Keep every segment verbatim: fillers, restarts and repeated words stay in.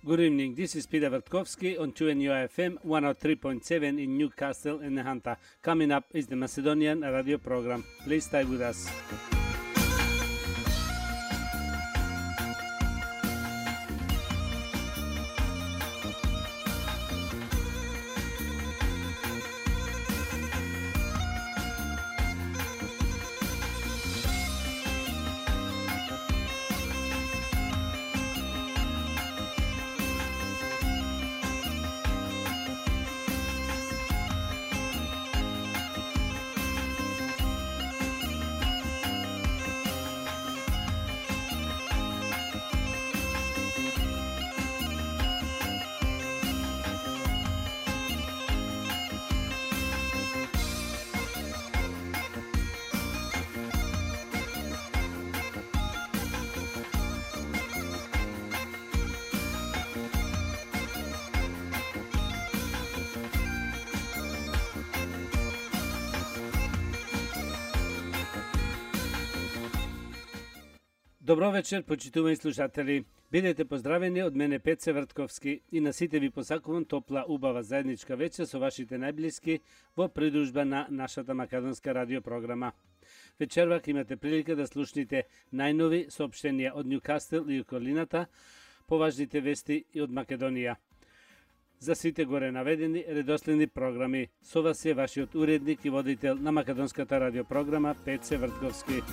Good evening, this is Peter Vertkovsky on two N U F M one oh three point seven in Newcastle and Nehanta. Coming up is the Macedonian radio program. Please stay with us. Добро вечер, почитувани слушатели. Бидете поздравени од мене Пеце Вртковски и на сите ви посакувам топла, убава заедничка вечер со вашите најблиски во придружба на нашата македонска радиопрограма. Вечервак имате прилика да слушнете најнови соопштенија од Ньюкасл и околината, поважните вести и од Македонија. За сите горе наведени редоследни програми, со вас е вашиот уредник и водител на македонската радиопрограма Пеце Вртковски.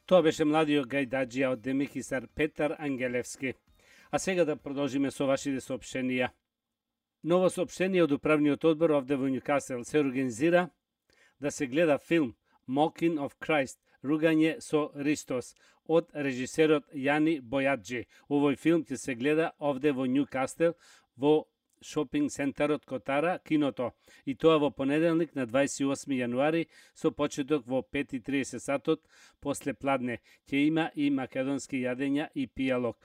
Тоа беше младиот гајдаджија од демихисар Петар Ангелевски. А сега да продолжиме со вашите соопштенија. Ново соопштение од управниот одбор овде во Ньюкасл се организира да се гледа филм Mocking of Christ, ругање со Христос, од режисерот Јани Бојаджи. Овој филм ќе се гледа овде во Ньюкасл во шопинг центарот Котара, киното, и тоа во понеделник на дваесет и осми јануари со почеток во пет и тридесет сатот после пладне. Ќе има и македонски јадења и пијалок.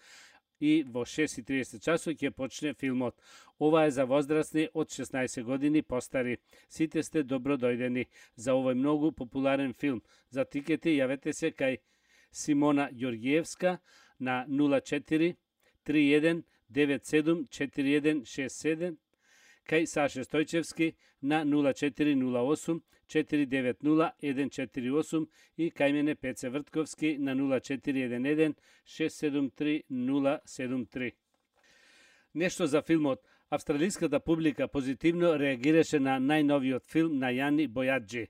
И во шест и тридесет часот ќе почне филмот. Ова е за возрастни од шеснаесет години постари. Сите сте добро дојдени за овој многу популарен филм. За тикети јавете се кај Симона Ѓорѓиевска на нула четири три еден девет седум четири еден шест седум, кај Саше Стојчевски на нула четири нула осум четири девет нула еден четири осум и кај мене Пеце Вртковски на нула четири еден еден шест седум три нула седум три. Нешто за филмот. Австралиската публика позитивно реагираше на најновиот филм на Јани Бојаджи,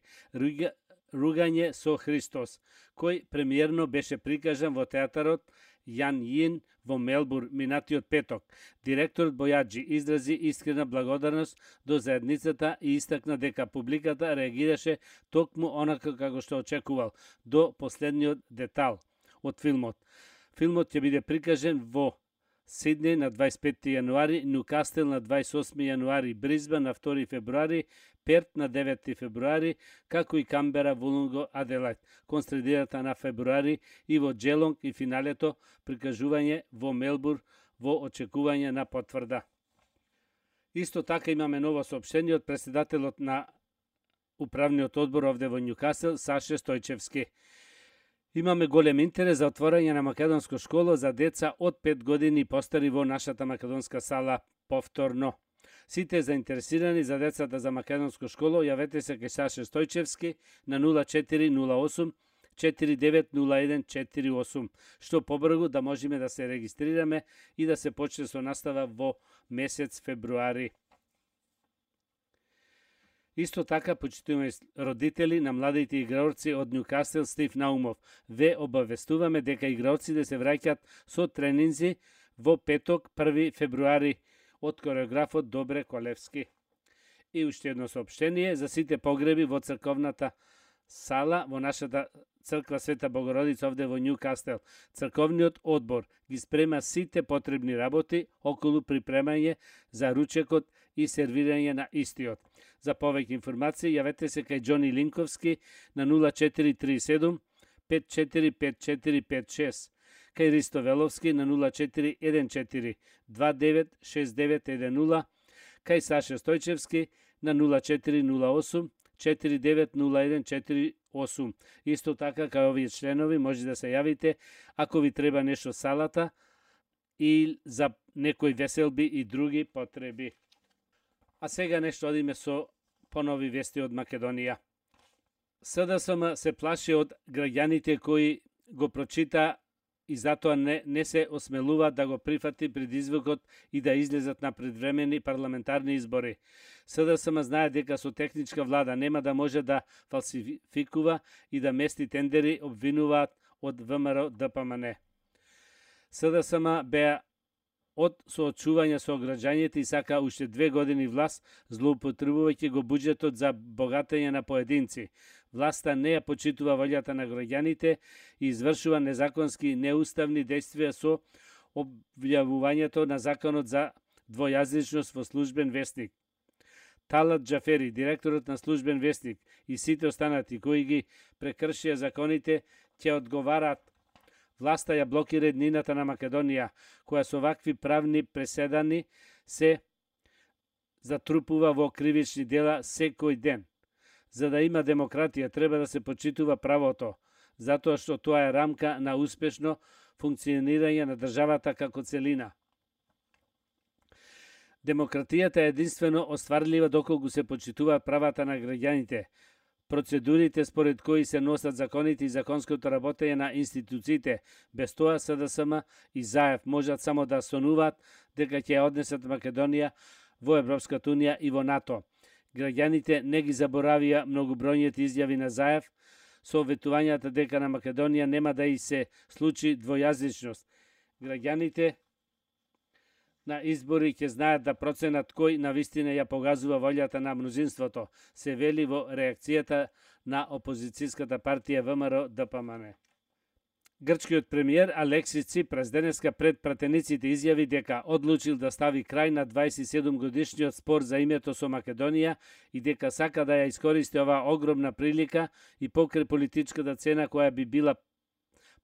Ругање со Христос, кој премиерно беше прикажан во театарот Јан Јин во Мелбур минатиот петок. Директорот Бојаджи изрази искрена благодарност до заедницата и истакна дека публиката реагираше токму онака како што очекувал, до последниот детал од филмот. Филмот ќе биде прикажен во Сиднеј на дваесет и петти јануари, Ньукасл на дваесет и осми јануари, Бризбен на втори февруари, Перт на деветти февруари, како и Камбера, Вулонго, Аделајд, кон средината на февруари и во Джелонг и финалето прикажување во Мелбур во очекување на потврда. Исто така имаме ново соопштение од претседателот на управниот одбор овде во Ньукасл, Саше Стојчевски. Имаме голем интерес за отворање на македонско школо за деца од пет години постари во нашата македонска сала повторно. Сите заинтересирани за децата за македонско школо јавете се кај Саше Стојчевски на нула четири нула осум четири девет нула еден четири осум, што побрзо да можеме да се регистрираме и да се почне со настава во месец февруари. Исто така, почитуваме родители на младите играорци од Ньукасл Стив Наумов. Ве обавестуваме дека играорците се враќаат со тренинзи во петок, први февруари, од кореографот Добре Колевски. И уште едно соопштение за сите погреби во црковната сала во нашата црква Света Богородица овде во Ньукасл. Црковниот одбор ги спрема сите потребни работи околу припремање за ручекот и сервирање на истиот. За повеќе информации јавете се кај Џони Линковски на нула четири три седум пет четири пет четири пет шест, кај Ристо Веловски на нула четири еден четири два девет шест девет еден нула, кај Саше Стојчевски на нула четири нула осум четири девет нула еден четири осум. Исто така, кај овие членови може да се јавите ако ви треба нешто салата и за некои веселби и други потреби. А сега нешто одиме со понови вести од Македонија. СДСМ се плаши од граѓаните кои го прочита и затоа не, не се осмелува да го прифати предизвикот и да излезат на предвремени парламентарни избори. СДСМ знае дека со техничка влада нема да може да фалсификува и да мести тендери, обвинуваат од ВМРО ДПМН. СДСМ беа од соочување со граѓаните и сака уште две години власт, злоупотребувајќи го буџетот за богатење на поединци. Власта не ја почитува волјата на граѓаните и извршува незаконски и неуставни действија со објавувањето на законот за двојазичност во Службен вестник. Талат Џафери, директорот на Службен вестник, и сите останати кои ги прекршија законите ќе одговараат. Власта ја блокира еднината на Македонија, која со вакви правни преседани се затрупува во кривични дела секој ден. За да има демократија, треба да се почитува правото, затоа што тоа е рамка на успешно функционирање на државата како целина. Демократијата е единствено остварлива доколку се почитуваат правата на граѓаните. Процедурите според кои се носат законите и законското работење на институциите, без тоа СДСМ и ЗАЕФ можат само да сонуваат дека ќе ја однесат Македонија во Европската унија и во НАТО. Граѓаните не ги заборавија многобројните изјави на ЗАЕФ со ветувањата дека на Македонија нема да и се случи двојазичност. Граѓаните на избори ќе знаат да проценат кој навистина ја погазува волјата на мнозинството, се вели во реакцијата на опозицијската партија ВМРО ДПМН. Грчкиот премиер Алексис Ципрас денеска пред пратениците изјави дека одлучил да стави крај на дваесет и седум годишниот спор за името со Македонија и дека сака да ја искористи оваа огромна прилика и покрај политичката цена која би била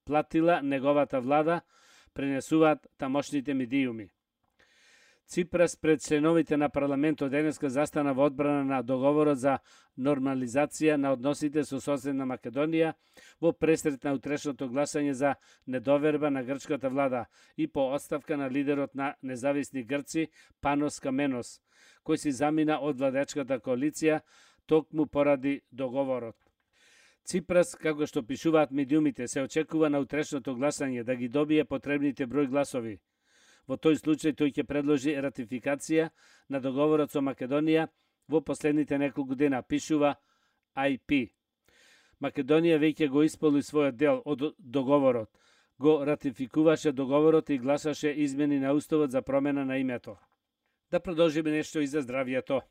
платила неговата влада, пренесуваат тамошните медиуми. Ципрас пред членовите на парламентот денеска застана во одбрана на договорот за нормализација на односите со соседна Македонија во пресрет на утрешното гласање за недоверба на грчката влада и по оставка на лидерот на независни грци Панос Каменос, кој си замина од владечката коалиција токму поради договорот. Ципрас, како што пишуваат медиумите, се очекува на утрешното гласање да ги добие потребните број гласови. Во тој случај тој ќе предложи ратификација на договорот со Македонија во последните неколку дена, пишува Ай Пи. Македонија веќе го исполни својот дел од договорот, го ратификуваше договорот и гласаше измени на уставот за промена на името. Да продолжиме нешто и за здравјето.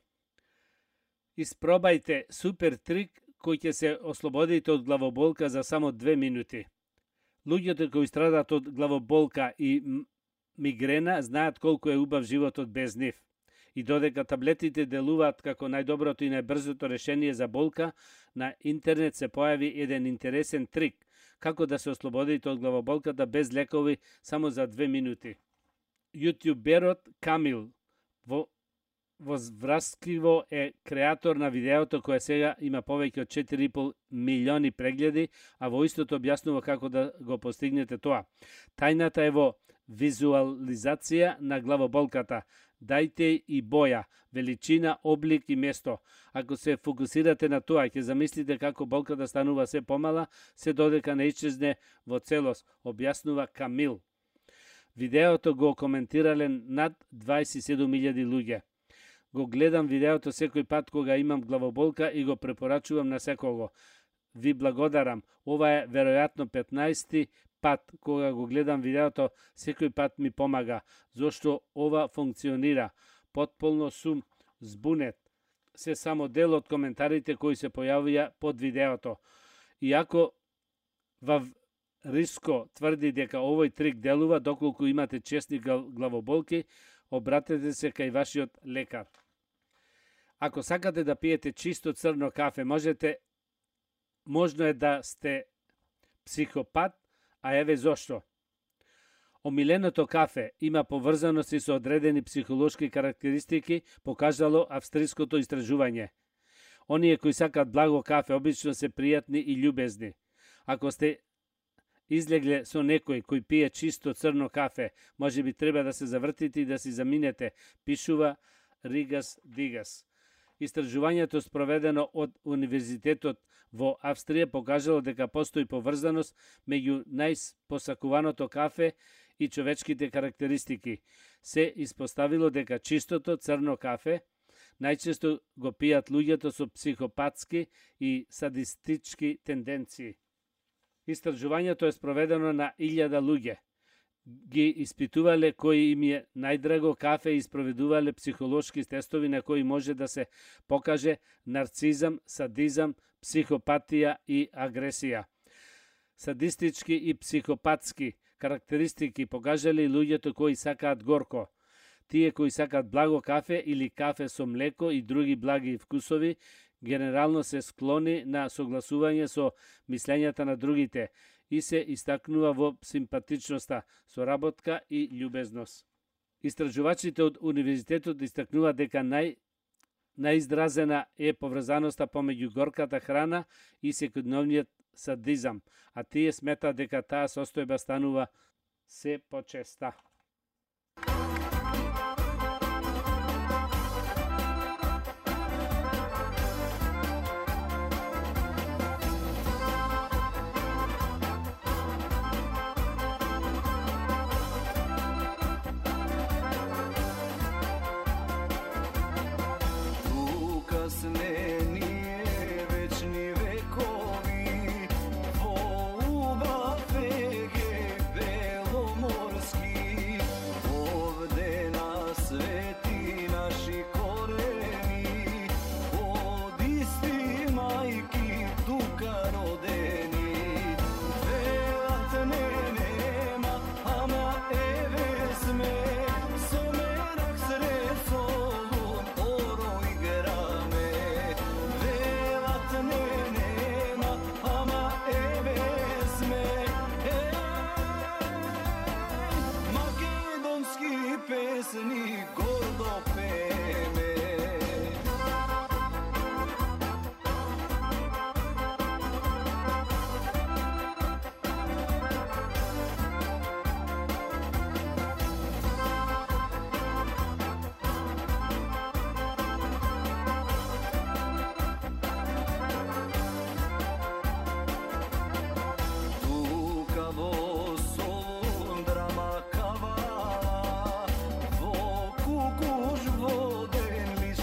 Испробајте супер трик кој ќе се ослободите од главоболка за само две минути. Луѓето кои страдаат од главоболка и мигрена знаат колку е убав животот без нив. И додека таблетите делуваат како најдоброто и најбрзото решение за болка, на интернет се појави еден интересен трик како да се ослободите од главоболката без лекови само за две минути. Јутјуберот Камил во возвраскиво е креатор на видеото кое сега има повеќе од четири и пол милиони прегледи, а во истото објаснува како да го постигнете тоа. Тајната е во визуализација на главоболката. Дајте и боја, величина, облик и место. Ако се фокусирате на тоа, ќе замислите како болката станува се помала, се додека не исчезне во целост, објаснува Камил. Видеото го коментирале над дваесет и седум илјади луѓе. Го гледам видеото секој пат кога имам главоболка и го препорачувам на секого. Ви благодарам. Ова е веројатно петнаесети пат кога го гледам видеото, секој пат ми помага, зашто ова функционира. Потполно сум збунет. Се само дел од коментарите кои се појавија под видеото. Иако Вав Риско тврди дека овој трик делува доколку имате чести главоболки, обратете се кај вашиот лекар. Ако сакате да пиете чисто црно кафе, можете можно е да сте психопат, а еве зошто. Омиленото кафе има поврзаности со одредени психолошки карактеристики, покажало австриското истражување. Оние кои сакат благо кафе обично се пријатни и љубезни. Ако сте излегле со некој кој пие чисто црно кафе, може би треба да се завртите и да си заминете, пишува Ригас Дигас. Истражувањето спроведено од Универзитетот во Австрија покажало дека постои поврзаност меѓу најпосакуваното кафе и човечките карактеристики. Се испоставило дека чистото црно кафе најчесто го пијат луѓето со психопатски и садистички тенденции. Истражувањето е спроведено на илјада луѓе. Ги испитувале кој им е најдраго кафе и спроведувале психолошки тестови на кои може да се покаже нарцизам, садизам, психопатија и агресија. Садистички и психопатски карактеристики покажале луѓето кои сакаат горко. Тие кои сакаат благо кафе или кафе со млеко и други благи вкусови, генерално се склони на согласување со мислењата на другите и се истакнува во симпатичноста, соработка и љубезност. Истражувачите од Универзитетот истакнува дека нај најизразена е поврзаноста помеѓу горката храна и секојдневниот садизам, а тие сметаат дека таа состојба станува се почеста. Vo kukuš voden li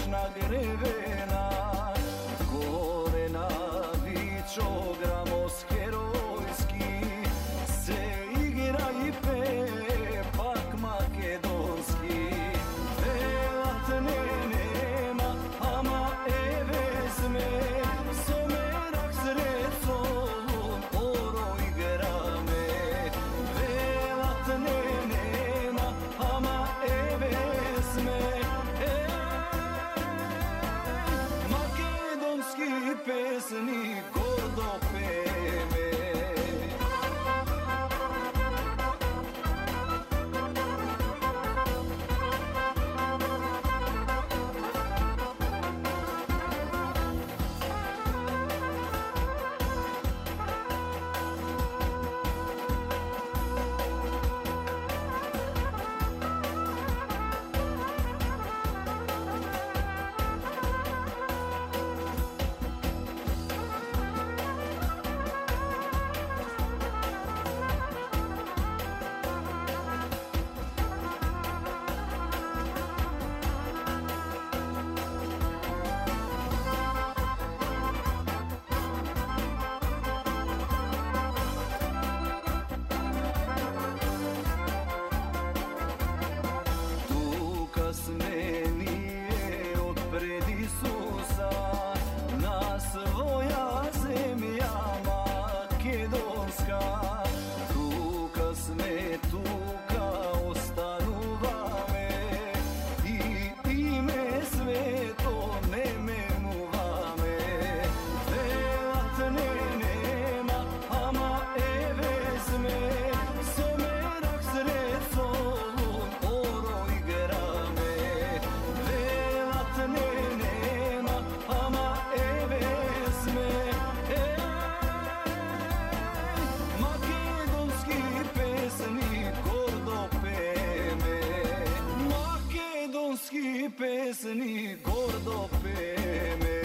pesni gordo peme.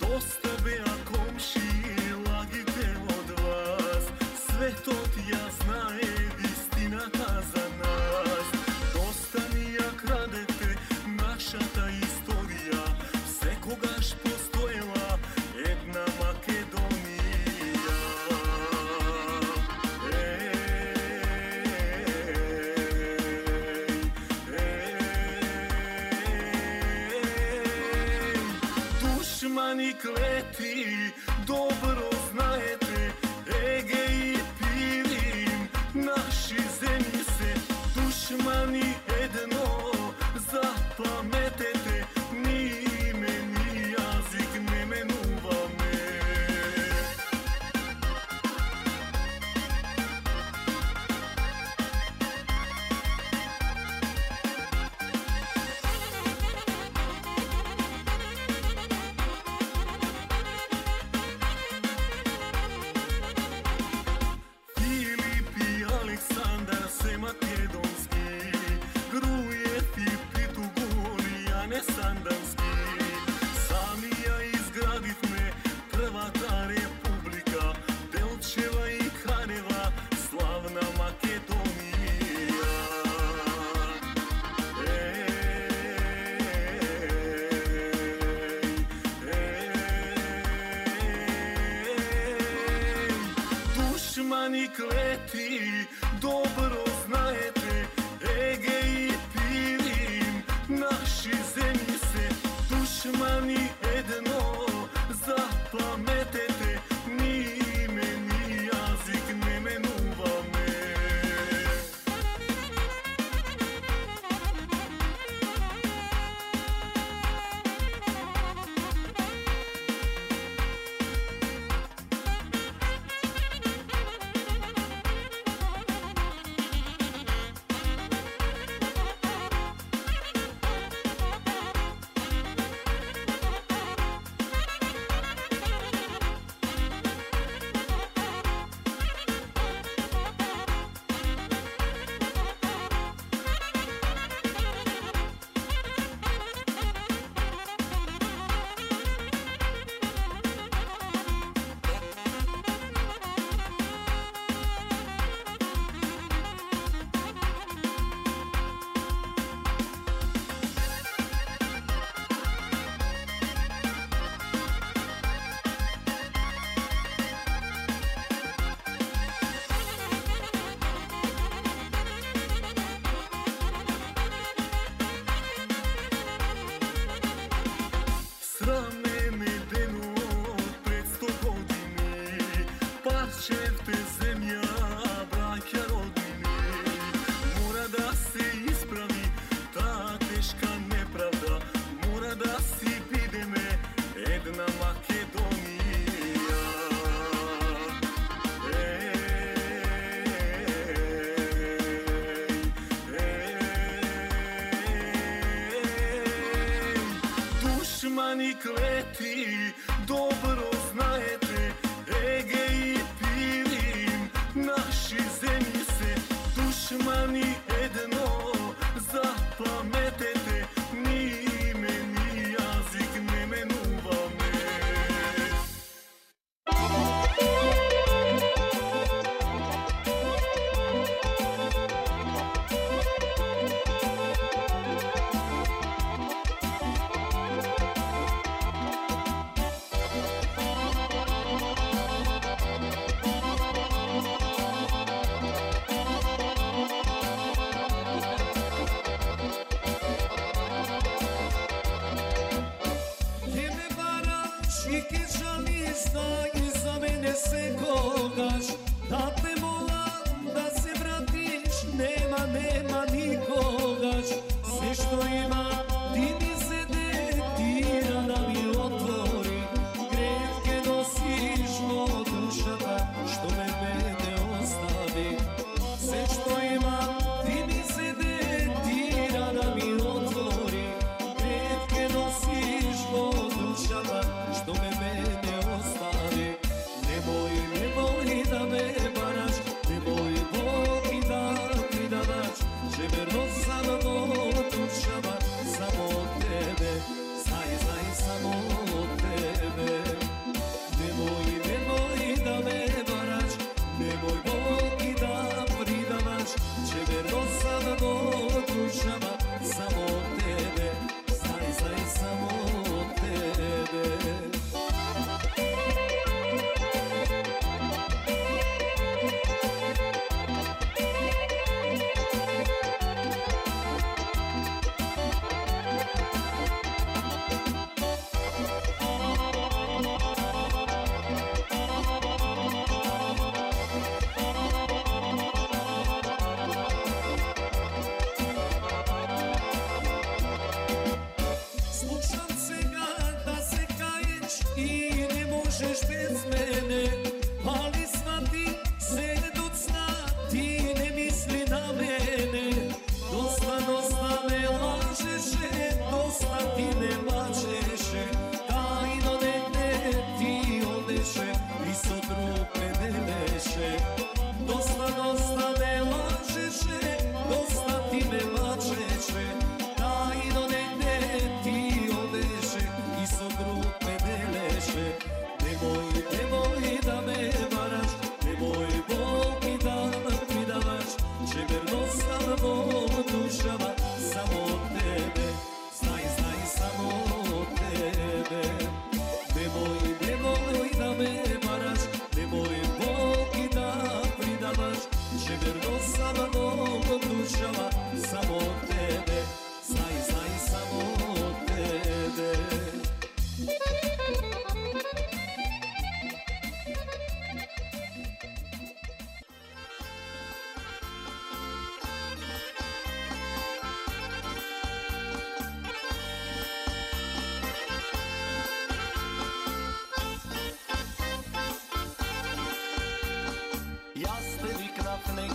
Dosta bea komšije, lagite od vas, sve to ti ja znaje, istinata za nas. Dosta mi ja kradete, naša ta istorija, sekogaš postojela jedna Makedonija. Ej, ej, dušmani kleti, dobro znajete, Egej i Pirin, naši zemlji se, dušmani jedno zapametete, ni ime, ni jazik ne menuva me. Filip i Aleksandar se makedonski, Grujev i Pitugor i Ane Sandanski. Sami ja izgradit me prva ta republika, Delčeva i Kaneva, slavna Makedonija. Ej, ej, ej, dušmani kleti, dobro znajete, Egej i Pirin, naši zemlji se, dušmani jedno zapametete, ni ime, ni jazik ne menuva me. Srame me deno pred sto godini, parčevte zemlja, braća rodini. Mora da se ispravi ta teška nepravda, mora da si vide me jedna Makedonija. Ej, ej, ej, dušmani kleti, dobro znajete, Egej i Pirin, naši zemlji se, dušmani jedno zapametete, ni ime, ni jazik ne menuva me. sekogaš, da te molam da se vratiš, nema, nema nikogaš, sve što ima ti mi se dektira da mi otvori, greške nosiš od dušata što me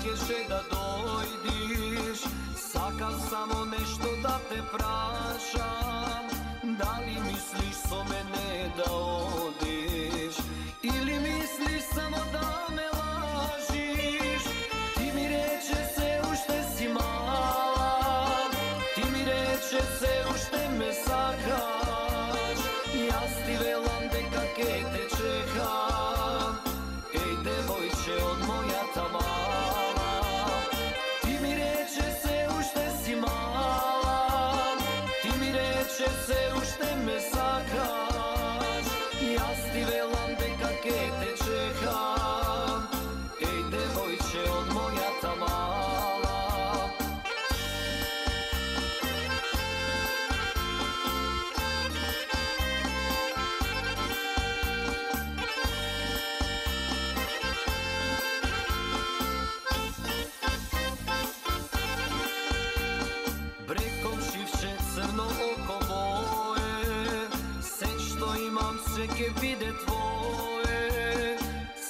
сакаше да дојдиш, сакам само нешто да те прашам, дали мислиш со мене да одиш, или мислиш само да ме лажиш? Ти ми рече се уште си мала, ти ми рече се уште ме сакаш, јас ти велам дека ке те чекам, еј девојче од мојата мала. Ти ми рече се уште си мала, ти ми рече се уште ме сакаш, јас ти велам дека ке те чекам, еј девојче од мојата мала. Брекомшивче црно око моје, се што имам се ке биде твое,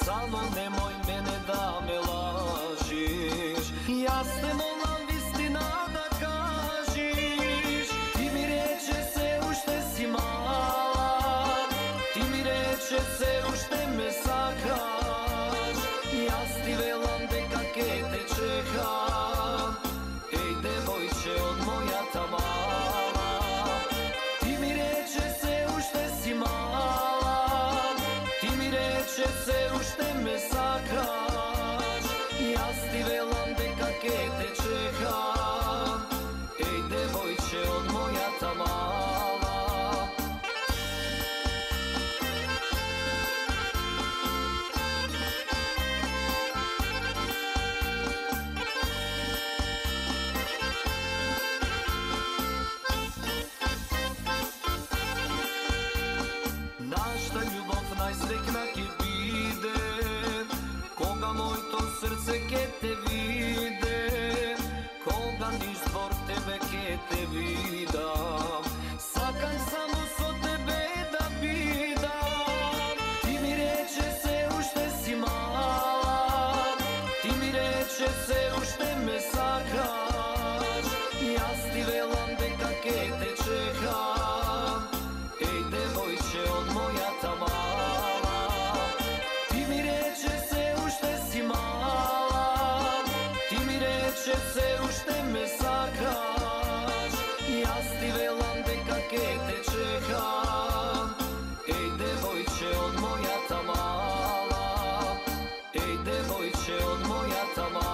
само немој мене да ме лажиш, јас те молам вистина да кажиш. Ти ми рече се уште си мала, ти ми рече се уште ме сакаш, јас ти велам дека ке те чекам, еј девојче од мојата мала. Ти ми рече се уште си мала, ти ми рече се уште ме сакаш, јас ти велам дека ке те чекам, еј девојче од мојата мала. Нашата љубов најсрекна ке биде, кога моето срце ке те виде, кога низ двор тебе ке те видам, сакам само со тебе да бидам. Ти ми рече се уште си мала, ти ми рече се уште ме сакаш, јас ти велам дека ке те чекам, еј девојче од мојата мала. Ти ми рече се уште си мала, ти ми рече се уште ме сакаш, јас ти велам дека ке те чекам, еј девојче од мојата мала, еј девојче од мојата мала.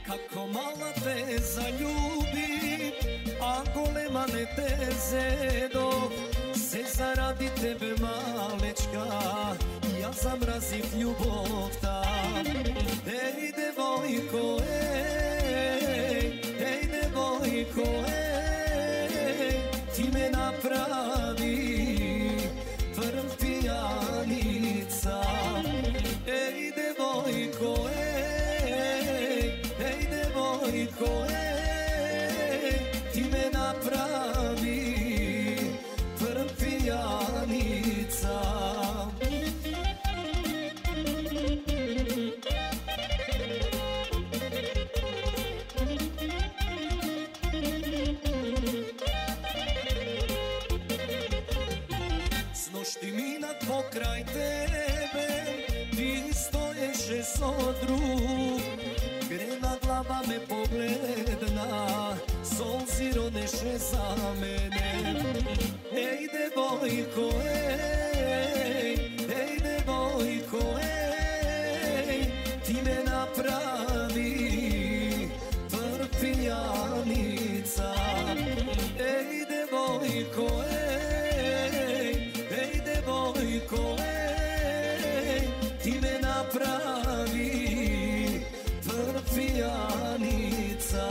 Како мала те заљуби, а голема не те зедов, се заради тебе малечка, јас замразив љубовта. Еј девојко, еј, еј девојко, еј, ти ме направи прв пијаница. Еј девојко, еј, еј девојко, еј, ти ме направи прв пијаница. С ношти минат покрај тебе, ти стоеше со друг, грена глава ме погледна, солзи ронеше за мене. Еј девојко, еј, еј девојко, еј, ти ме направи прв пијаница. Еј девојко, еј, еј девојко, еј, ти ме направи прв пијаница.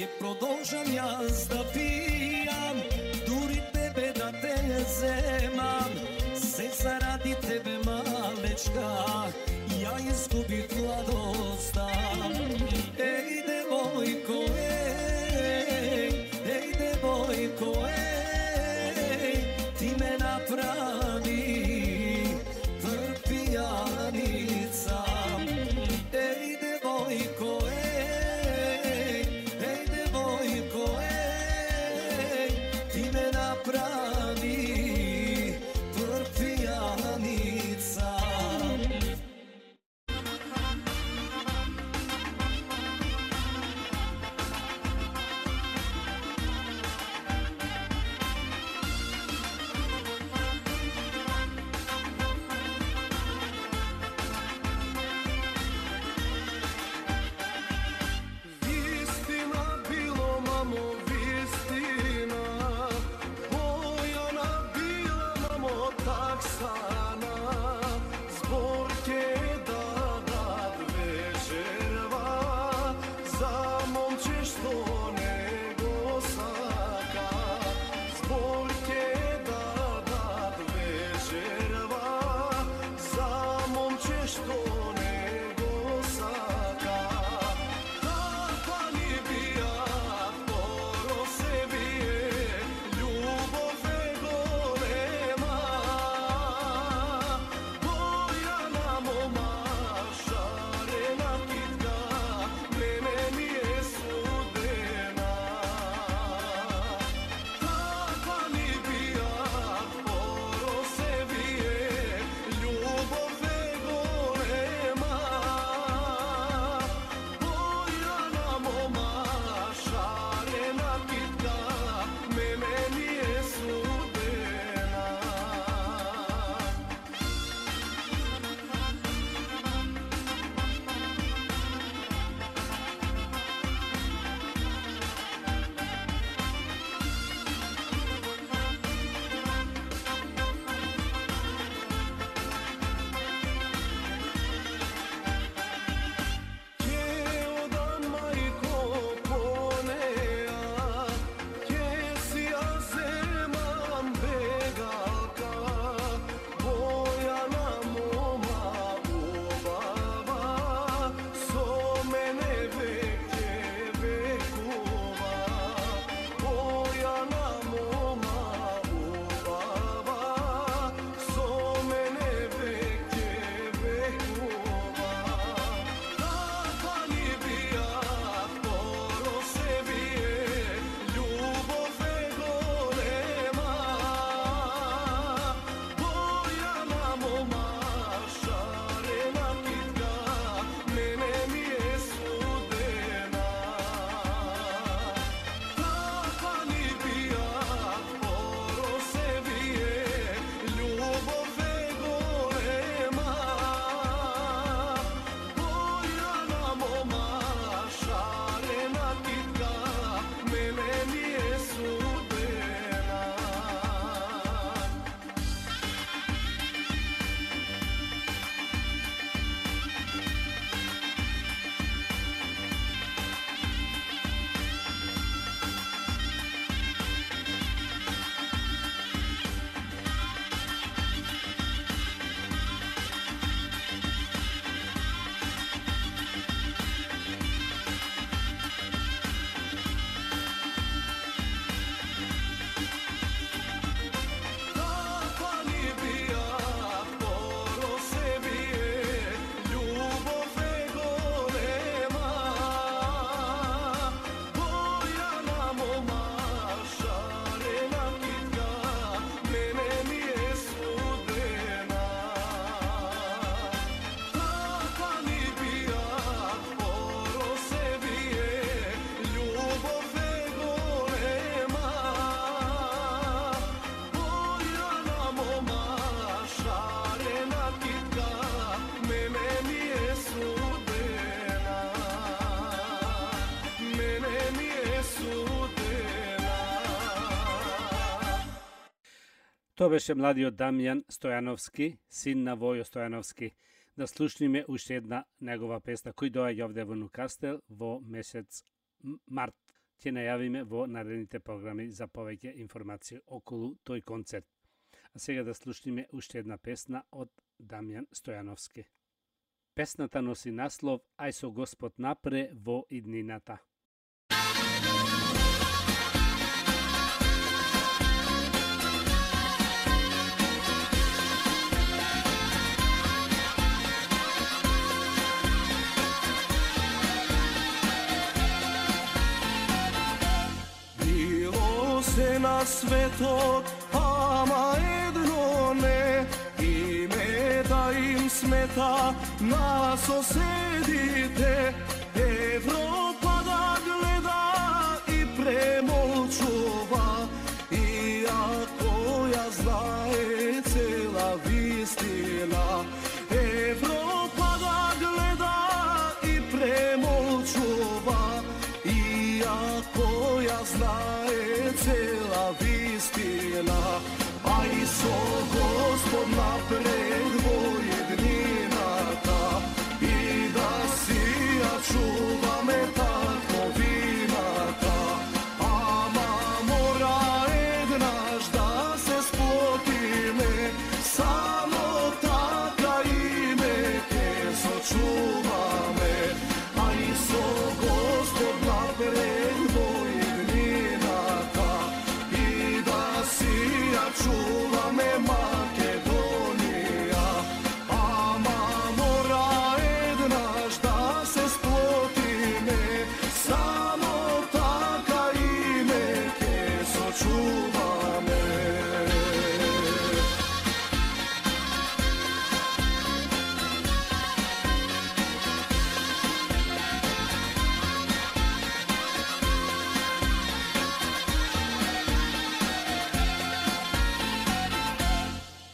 Ќе продолжам јас да пијам, дури тебе да те земам. Се заради тебе, малечка, ја изгубив младоста. Еј, девојко, еј, еј, девојко, еј, ти ме направи пијаница. Еј, девојко, еј, еј, девојко, еј, ти ме направи пијаница. Вистина било, мамо, вистина. Бојана била, мамо, таксана. Збор ќе дадат вечерва за момче што не го сака. Збор ќе дадат вечерва за момче што не го сака. Таква ни бија, поро се бие, љубов е голема. Бојана мома, шарена китка, мене ми е судена. Таква ни бија, поро се бие, љубов е голема. Бојана мома, шарена китка, мене ми е судена. Ќе одам, мајко, по неа, ќе си ја земам бегалка. Бојана мома убава, со мене веќе векува. Бојана мома убава, со мене веќе векува. Таква ни бија, поро се бие, љубов е голема. Бојана мома, шарена китка, мене ми е судена. Таква ни бија, поро се бие, љубов е голема. Бојана мома, шарена китка, мене ми е судена. Таква ни бија, поро се бие, љубов е голема. Бојана мома, шарена китка, мене ми е судена. Таква ни бија, поро се бие, љубов е голема. Бојана мома, шарена китка, мене ми е судена. Мене ми е судена. Тоа беше младиот Дамјан Стојановски, син на Војо Стојановски. Да слушниме уште една негова песна кој доаѓа овде во Нукастел во месец м- март. ќе најавиме во наредните програми за повеќе информации околу тој концерт. А сега да слушнеме уште една песна од Дамјан Стојановски. Песната носи наслов Ај со Господ напре во иднината. Било се на светот, ама едно не, имета им смета на соседите. Европа да гледа и премолчува, иако ја знае цела вистина. Европа да гледа и премолчува, иако ја знае цела вистина. Ај со Господ напред во еднината и да си ја чуваме татковината. Ама мора еднаш да се сплотиме, само така име ке сочуваме. Ај со Господ напред во еднината и да си ја чуваме Македонија. Ама мора еднаш да се сплотиме, само така име ке сочуваме.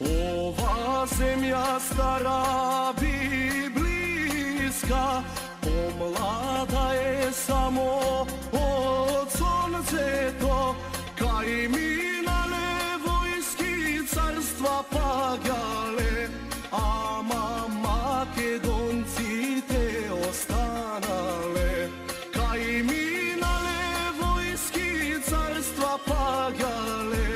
Ова земја стара библиска, помлада е само од сонцето. Кај минале војски царства паѓале, ама македонците останале. Кај минале војски царства паѓале,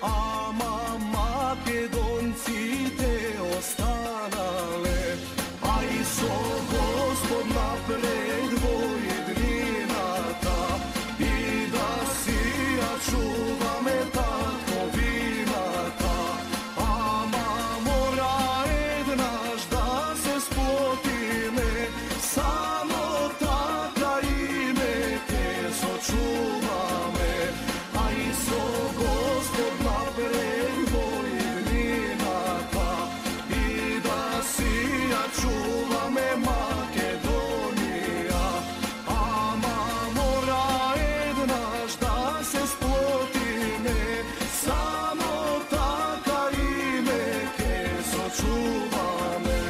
ама македонците останале. Ај со Господ напред во еднината и да си ја чуваме татковината. Ама мора еднаш да се сплотиме, само така име ке сочуваме. Ај со Господ напред во еднината и да си ја чуваме Македонија. Ама мора еднаш да се сплотиме, само така име ке сочуваме.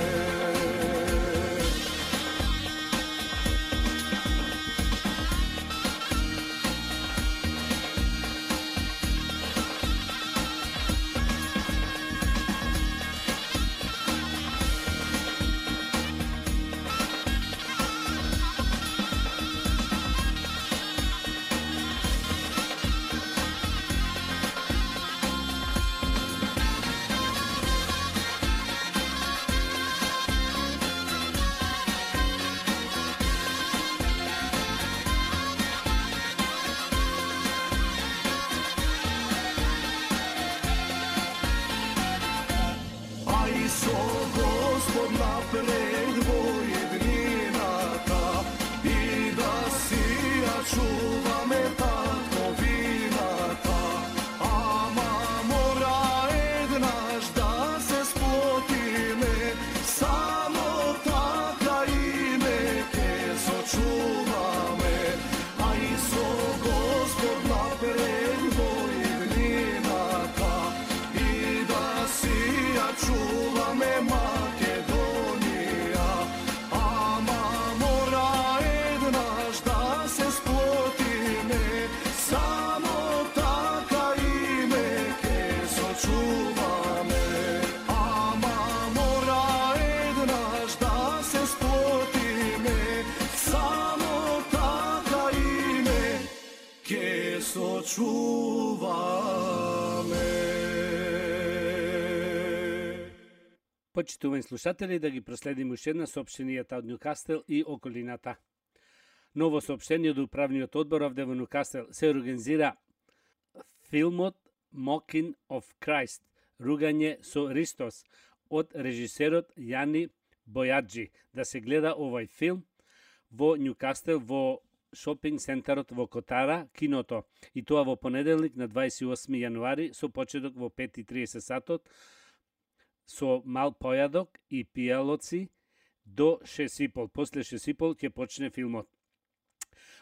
Ај со Господ напред во еднината и да си ја чуваме татковината. Ама мора еднаш да се сплотиме, само така име ке сочуваме. Ај со Господ напред во еднината и да си ја чуваме Македонија. ке сочуваме. Почитувани слушатели, да ги проследиме уште една соопштенијата од Њукастел и околината. Ново соопштение од управниот одбор овде во Њукастел се организира филмот Mocking of Christ, ругање со Ристос, од режисерот Јани Бојаджи. Да се гледа овој филм во Њукастел, во шопинг центарот во Котара, киното. И тоа во понеделник на дваесет и осми јануари со почеток во пет и тридесет сатот, со мал појадок и пијалоци до шест и пол. После шест и пол ќе почне филмот.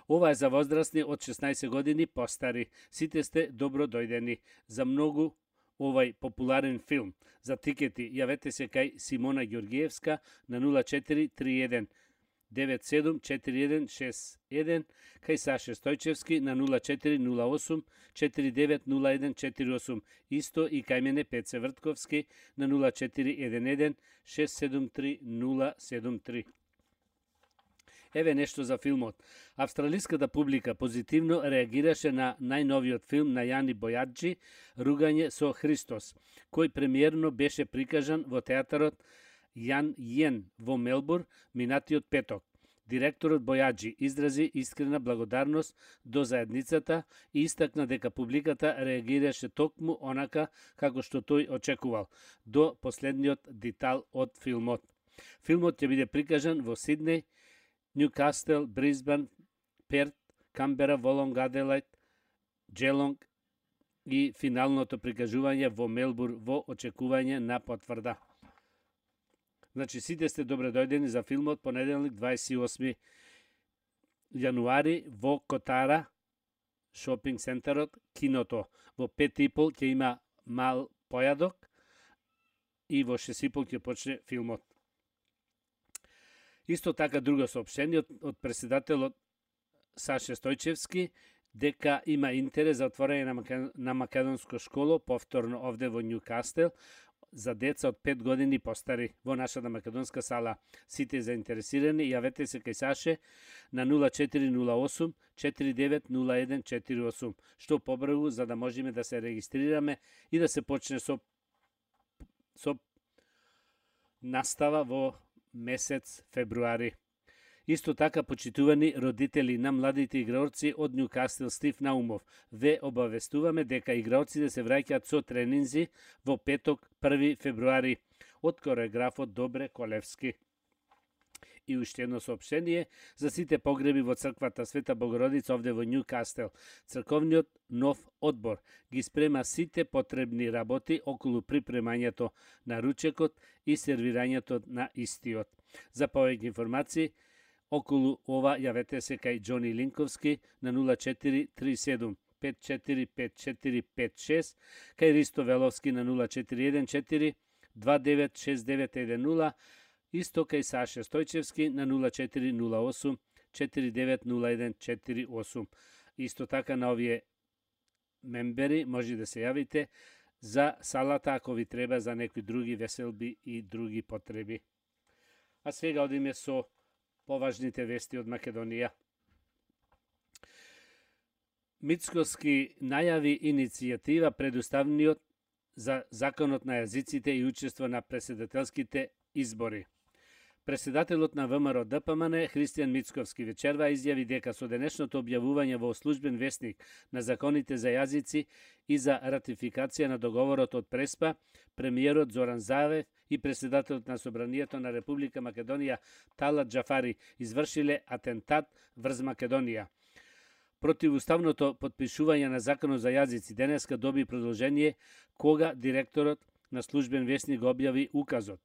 Ова е за возрастни од шеснаесет години постари. Сите сте добро дојдени за многу овај популарен филм. За тикети јавете се кај Симона Ѓоргиевска на нула четири три еден девет седум четири еден шест еден, кај Саше Стојчевски на нула четири нула осум четири девет нула еден четири осум, исто и кај мене Пеце Вртковски на нула четири еден еден шест седум три нула седум три. Еве нешто за филмот. Австралиската публика позитивно реагираше на најновиот филм на Јани Бојаджи, Ругање со Христос, кој премиерно беше прикажан во театарот Јан Јен во Мелбур минатиот петок. Директорот Бојаджи изрази искрена благодарност до заедницата и истакна дека публиката реагираше токму онака како што тој очекувал до последниот детал од филмот. Филмот ќе биде прикажан во Сиднеј, Њукастел, Брисбен, Перт, Камбера, Волонг, Аделајд, Джелонг и финалното прикажување во Мелбур во очекување на потврда. Значи, сите сте добре дојдени за филмот понеделник дваесет и осми јануари во Котара, шопинг центарот, киното. Во пет и пол ќе има мал појадок и во шест и пол ќе почне филмот. Исто така друго соопштение од, од председателот Саше Стојчевски дека има интерес за отворање на, Македон, на македонско школо повторно овде во Њукастел за деца од пет години постари во нашата македонска сала. Сите заинтересирани јавете се кај Саше на нула четири нула осум четири девет нула еден четири осум, што побрзо за да можеме да се регистрираме и да се почне со со настава во месец февруари. Исто така, почитувани родители на младите играорци од Њукастел Стив Наумов, ве обавестуваме дека играорците се враќаат со тренинзи во петок први февруари од кореографот Добре Колевски. И уште едно соопштение за сите погреби во црквата Света Богородица овде во Њукастел. Црковниот нов одбор ги спрема сите потребни работи околу припремањето на ручекот и сервирањето на истиот. За повеќе информации околу ова јавете се кај Џони Линковски на нула четири три седум пет четири пет четири пет шест, кај Ристо Веловски на нула четири еден четири два девет шест девет еден нула, исто кај Саше Стојчевски на нула четири нула осум четири девет нула еден четири осум. Исто така на овие мембери може да се јавите за салата ако ви треба за некои други веселби и други потреби. А сега одиме со поважните вести од Македонија. Мицкоски најави иницијатива пред Уставниот за законот на јазиците и учество на претседателските избори. Председателот на ВМРО Д П М Н Христијан Мицковски вечерва изјави дека со денешното објавување во службен весник на законите за јазици и за ратификација на договорот од Преспа, премиерот Зоран Заев и председателот на Собранието на Република Македонија Талат Џафари извршиле атентат врз Македонија. Противуставното потпишување на законот за јазици денеска доби продолжение кога директорот на службен весник објави указот.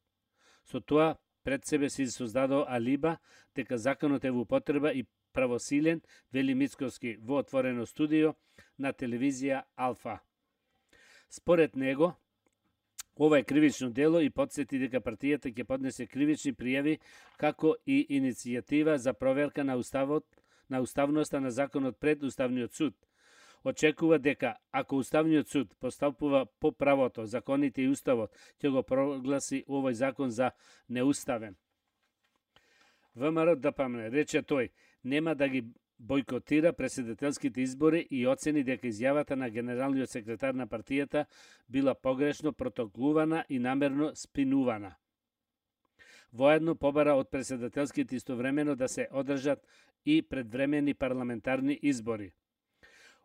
Со тоа пред себе си создадо алиба дека законот е во употреба и правосилен, вели Мицковски во отворено студио на телевизија Алфа. Според него, ова е кривично дело и подсети дека партијата ќе поднесе кривични пријави како и иницијатива за проверка на уставот на уставноста на законот пред Уставниот суд. Очекува дека ако Уставниот суд постапува по правото, законите и уставот, ќе го прогласи овој закон за неуставен. ВМРО Д П М Н, рече тој, нема да ги бојкотира претседателските избори и оцени дека изјавата на генералниот секретар на партијата била погрешно протоколувана и намерно спинувана. Воедно побара од претседателските истовремено да се одржат и предвремени парламентарни избори.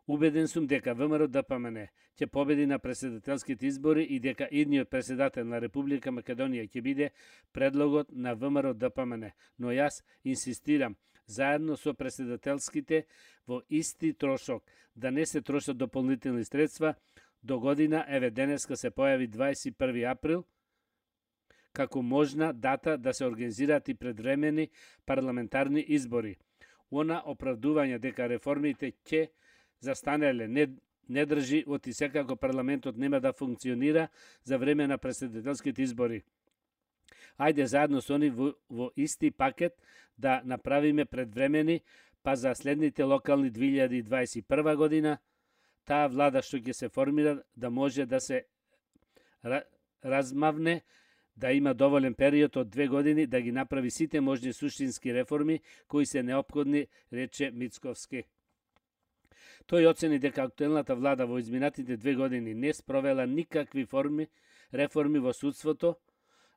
Убеден сум дека ВМРО-ДПМН ќе победи на претседателските избори и дека идниот претседател на Република Македонија ќе биде предлогот на ВМРО-ДПМН, но јас инсистирам заедно со претседателските во исти трошок, да не се трошат дополнителни средства до година, еве денеска се појави дваесет и први април, како можна дата да се организираат и предвремени парламентарни избори. Она оправдување дека реформите ќе застанеле не, не држи, оти секако парламентот нема да функционира за време на претседателските избори. Ајде заедно со они во, во исти пакет да направиме предвремени, па за следните локални две илјади и дваесет и прва година, таа влада што ќе се формира да може да се размавне, да има доволен период од две години да ги направи сите можни суштински реформи кои се неопходни, рече Мицковски. Тој оцени дека актуелната влада во изминатите две години не спровела никакви форми, реформи во судството,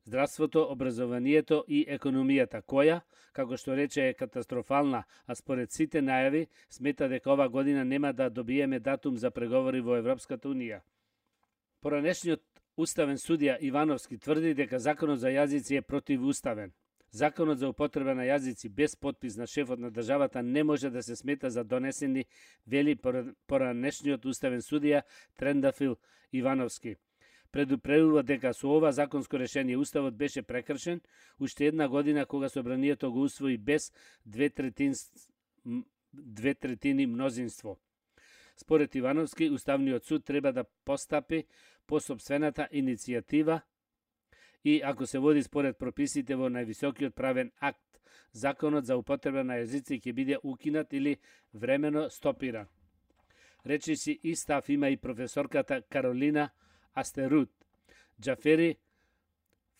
здравството, образованието и економијата, која, како што рече, е катастрофална, а според сите најави смета дека ова година нема да добиеме датум за преговори во Европската унија. Поранешниот уставен судија Ивановски тврди дека законот за јазици е противуставен. Законот за употреба на јазици без подпис на шефот на државата не може да се смета за донесени, вели поранешниот уставен судија Трендафил Ивановски. Предупредува дека со ова законско решение уставот беше прекршен уште една година кога собранието го усвои без две третини, две третини мнозинство. Според Ивановски, Уставниот суд треба да постапи по сопствената иницијатива и ако се води според прописите во највисокиот правен акт, законот за употреба на јазици ќе биде укинат или времено стопиран. Речиси и став има и професорката Каролина Астерут. Џафери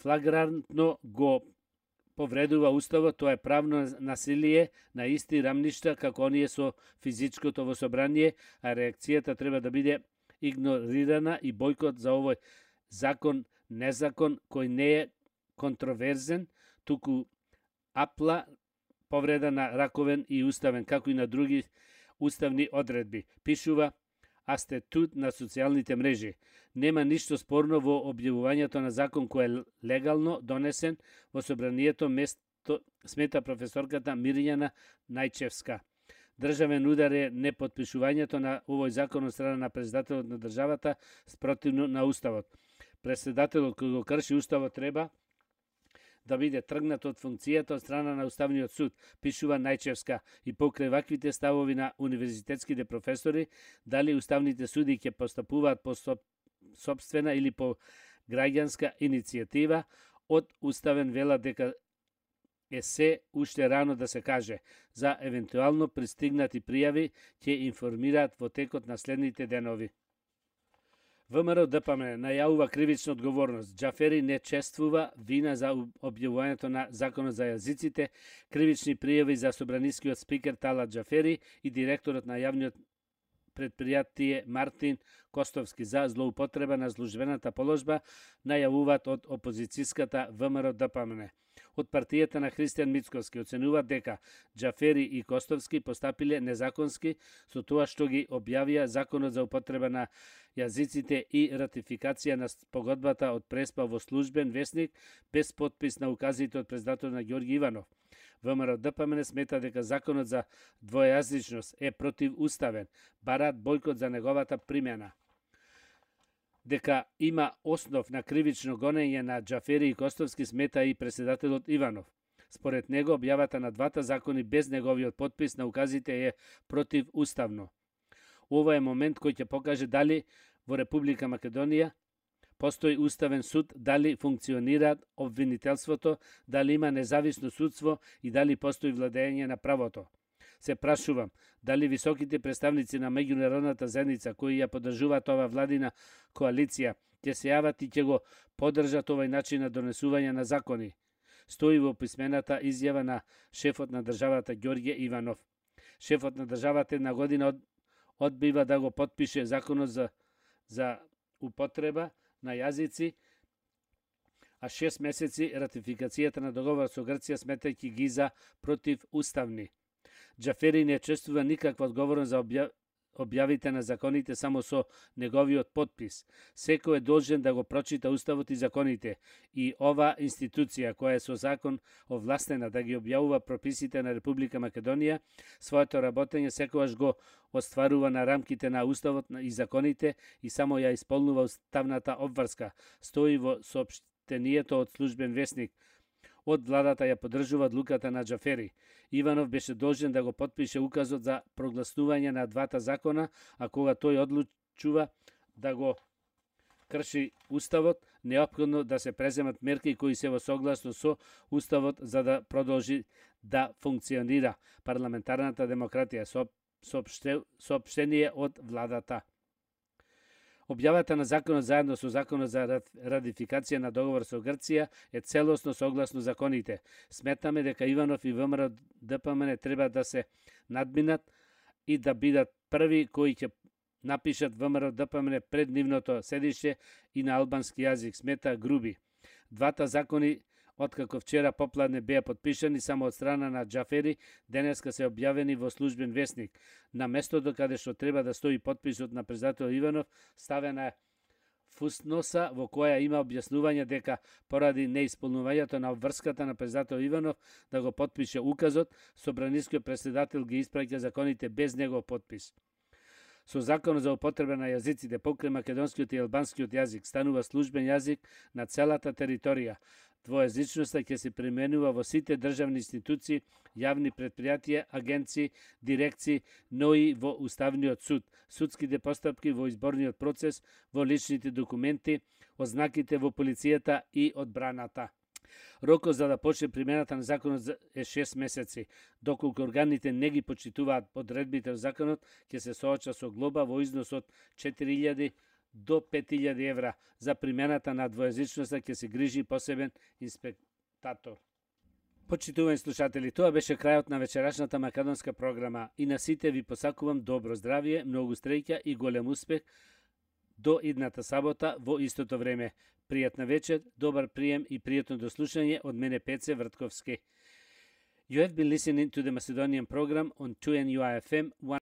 флагрантно го повредува уставот, тоа е правно насилие на исти рамништа како оние со физичкото во собрание, а реакцијата треба да биде игнорирана и бојкот за овој закон, незакон кој не е контроверзен, туку апла повреда на раковен и уставен, како и на други уставни одредби, пишува Астетут на социјалните мрежи. Нема ништо спорно во објавувањето на закон кој е легално донесен во собранието, место, смета професорката Мирјана Најчевска. Државен удар е непотпишувањето на овој закон од страна на председателот на државата спротивно на уставот. Председателот кој го крши уставот треба да биде тргнат од функцијата од страна на Уставниот суд, пишува Најчевска, и покрај ваквите ставови на универзитетските професори, дали уставните суди ќе постапуваат по собствена или по граѓанска иницијатива, од уставен вела дека е се уште рано да се каже. За евентуално пристигнати пријави ќе информираат во текот на следните денови. ВМРО-ДПМН најавува кривична одговорност. Џафери не чествува вина за објавувањето на законот за јазиците, кривични пријави за собранискиот спикер Талат Џафери и директорот на јавниот предпријатие Мартин Костовски за злоупотреба на службената положба најавуваат од опозицијската ВМРО-ДПМН. Од партијата на Христијан Мицковски оценуваат дека Џафери и Костовски постапиле незаконски со тоа што ги објавија законот за употреба на јазиците и ратификација на погодбата од Преспа во службен весник без подпис на указите од председателот на Ѓорги Иванов. ВМРО-ДПМН смета дека законот за двојазичност е противуставен, бараат бојкот за неговата примена. Дека има основ на кривично гонење на Џафери и Костовски смета и председателот Иванов. Според него, објавата на двата закони без неговиот подпис на указите е противуставно. Ова е момент кој ќе покаже дали во Република Македонија постои уставен суд, дали функционира обвинителството, дали има независно судство и дали постои владење на правото. Се прашувам, дали високите представници на меѓународната заедница кои ја поддржуваат ова владина коалиција ќе се јават и ќе го поддржат овој начин на донесување на закони. Стои во писмената изјава на шефот на државата Ѓорѓе Иванов. Шефот на државата една година од, одбива да го потпише законот за, за употреба на јазици, а шест месеци ратификацијата на договор со Грција сметајќи ги за противуставни. Џафери не чувствува никаква одговорност за обја... објавите на законите само со неговиот потпис. Секој е должен да го прочита уставот и законите, и ова институција која е со закон овластена да ги објавува прописите на Република Македонија, своето работење секогаш го остварува на рамките на уставот и законите и само ја исполнува уставната обврска, стои во соопштението од службен весник. Од владата ја поддржува одлуката на Џафери. Иванов беше должен да го потпише указот за прогласнување на двата закона, а кога тој одлучува да го крши уставот, неопходно да се преземат мерки кои се во согласно со уставот за да продолжи да функционира парламентарната демократија. Соопштение од владата. Објавата на законот заедно со законот за ратификација на договор со Грција е целосно согласно законите. Сметаме дека Иванов и ВМРО ДПМН треба да се надминат и да бидат први кои ќе напишат ВМРО ДПМН пред нивното седиште и на албански јазик, смета Груби. Двата закони, откако вчера попладне беа потпишани само од страна на Џафери, денеска се објавени во службен весник. На местото каде што треба да стои потписот на председател Иванов, ставена е фусноса во која има објаснување дека поради неисполнувањето на обврската на председател Иванов да го потпише указот, собранискиот председател ги испраќа законите без негов потпис. Со законот за употреба на јазиците покрај македонскиот и албанскиот јазик станува службен јазик на целата територија. Двојазичноста ќе се применува во сите државни институции, јавни предпријатија, агенции, дирекции, но и во Уставниот суд, судските постапки во изборниот процес, во личните документи, ознаките во полицијата и одбраната. Рокот за да почне примената на законот е шест месеци. Доколку органите не ги почитуваат одредбите од законот, ќе се сооча со глоба во износ од четири илјади до пет илјади евра. За примената на двојазичноста ќе се грижи посебен инспектатор. Почитувани слушатели, тоа беше крајот на вечерашната македонска програма и на сите ви посакувам добро здравје, многу среќа и голем успех до идната сабота во истото време. Пријатна вечер, добар прием и пријатно дослушање од мене Пеце Вртковски. You have been listening to the Macedonian program on two N U I F M